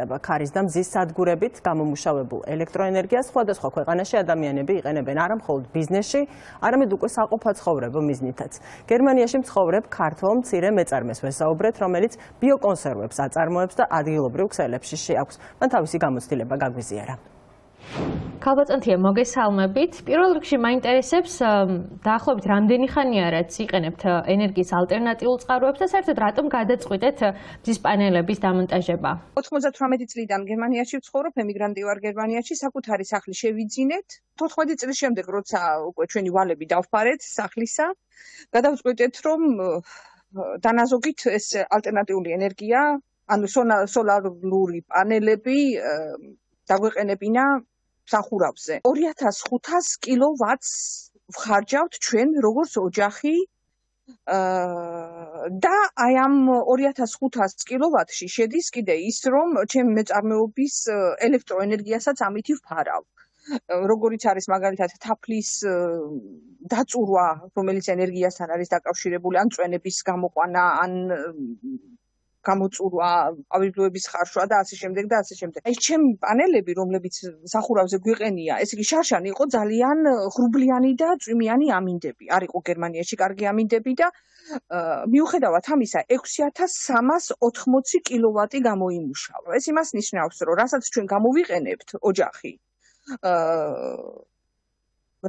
ხდება ქარის და მზის სადგურებით გამომუშავებულ ელექტროენერგიას სხვადასხვა ქვეყანაში ადამიანები იყენებენ არა მხოლოდ ბიზნესში, არამედ უკვე საყოფაცხოვრებო მიზნითაც. გერმანიაში მცხოვრებ ქართველ მცირე მეწარმეს ვესაუბრეთ, რომელიც ბიოკონსერვებს აწარმოებს და ადგილობრივ ქსელებში შეაქვს. მან თავისი გამოცდილება გაგვიზიარა. ქალბატონთია, მოგესალმებით. პირველ რიგში მაინტერესებს დაახლოებით რამდენი ხანია რაც იყენებთ ენერგიის ალტერნატიულ წყაროებს და საერთოდ რატომ გადაწყვიტეთ მზის პანელების დამონტაჟება? 98 წლიდან გერმანიაში ვცხოვრობ, ემიგრანტი ვარ გერმანიაში, საკუთარი სახლი შევიძინეთ. 14 წლის შემდეგ, როცა უკვე ჩვენი ვალები დავფარეთ სახლისა, გადავწყვიტეთ, რომ დანაზოგით ეს ალტერნატიული ენერგია, ანუ სოლარული პანელები დაგვეყენებინა სახურავზე. 2500 კილოვატს ვხარჯავთ ჩვენ როგორც ოჯახი და აი ამ 2500 კილოვატში შედის კიდე ის, რომ ჩემი მეწარმეობის ელექტროენერგიასაც ამით ვფარავ. როგორიც არის მაგალითად თაფლის დაწურვა, რომელიც ენერგიასთან არის დაკავშირებული, ან წვენების გამოყვანა, ან გამოწურვა, ავიბროების ხარშვა და ასე შემდეგ და ასე შემდეგ. აი ჩემი პანელები, რომლებიც სახურავზე გვიყენია, ესე იგი შარშანი იყო ძალიან ღრუბლიანი და წვიმიანი ამინდები. არ იყო გერმანიაში კარგი ამინდები და მიუხედავად ამისა 6380 კილოვატი გამოიმუშავა. ეს იმას ნიშნავს, რომ რასაც ჩვენ გამოვიყენებთ ოჯახი,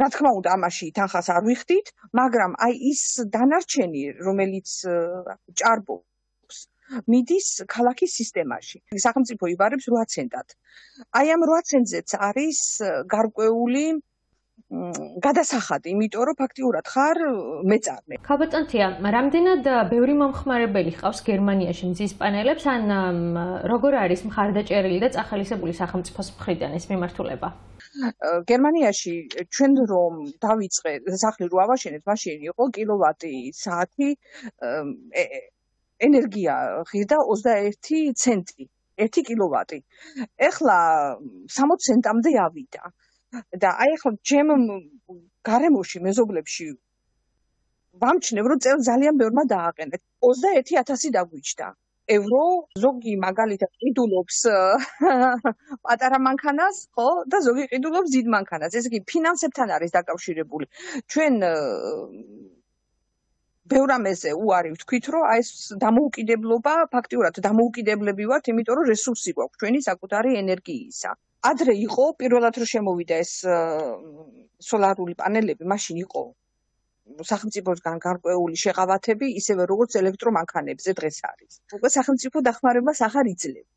რა თქმა უნდა, ამაში თანხას არ ვიხდით, მაგრამ აი ის დანარჩენი, რომელიც ჭარბობს მიდის ქალაქის სისტემაში. სახელმწიფო იბარებს 8 ცენტად. აი ამ 8 ცენტზეც არის გარკვეული გადასახადი, იმიტომ რომ ფაქტიურად ხარ მეწარმე. ქალბატონთია, რამდენად ბევრი მომხმარებელი ჰყავს გერმანიაში მზის პანელებს, ან როგორ არის მხარდაჭერილი და წახალისებული სახელმწიფოს მხრიდან ეს მიმართულება? გერმანიაში ჩვენ რომ დავიწყე სახლი რო ავაშენეთ, მაშინ იყო კილოვატი საათი ენერგია ღირდა 21 ცენტი, 1 კილოვატი. ეხლა 60 ცენტამდე ავიდა. და აი ახლა ჩემ გარემოში, მეზობლებში ვამჩნევ, რომ წელს ძალიან ბევრმა დააყენეთ. 21000 დაგვიჯდა. ევრო, ზოგი მაგალითად ყიდულობს პატარა მანქანას, ხო? და ზოგი ყიდულობს დიდ მანქანას. ესე იგი, ფინანსებთან არის დაკავშირებული. ჩვენ ბევრ ამაზე უარი ვთქვით, რომ აი ეს დამოუკიდებლობა, ფაქტიურად დამოუკიდებლები ვართ, იმიტომ რომ რესურსი გვაქვს ჩვენი საკუთარი ენერგიისა. ადრე იყო, პირველად რომ შემოვიდა ეს სოლარული პანელები, მაშინ იყო სახელმწიფოსგან გარკვეული შეღავათები, ისევე როგორც ელექტრომანქანებზე დღეს არის. უკვე სახელმწიფო დახმარებას აღარ იძლევა.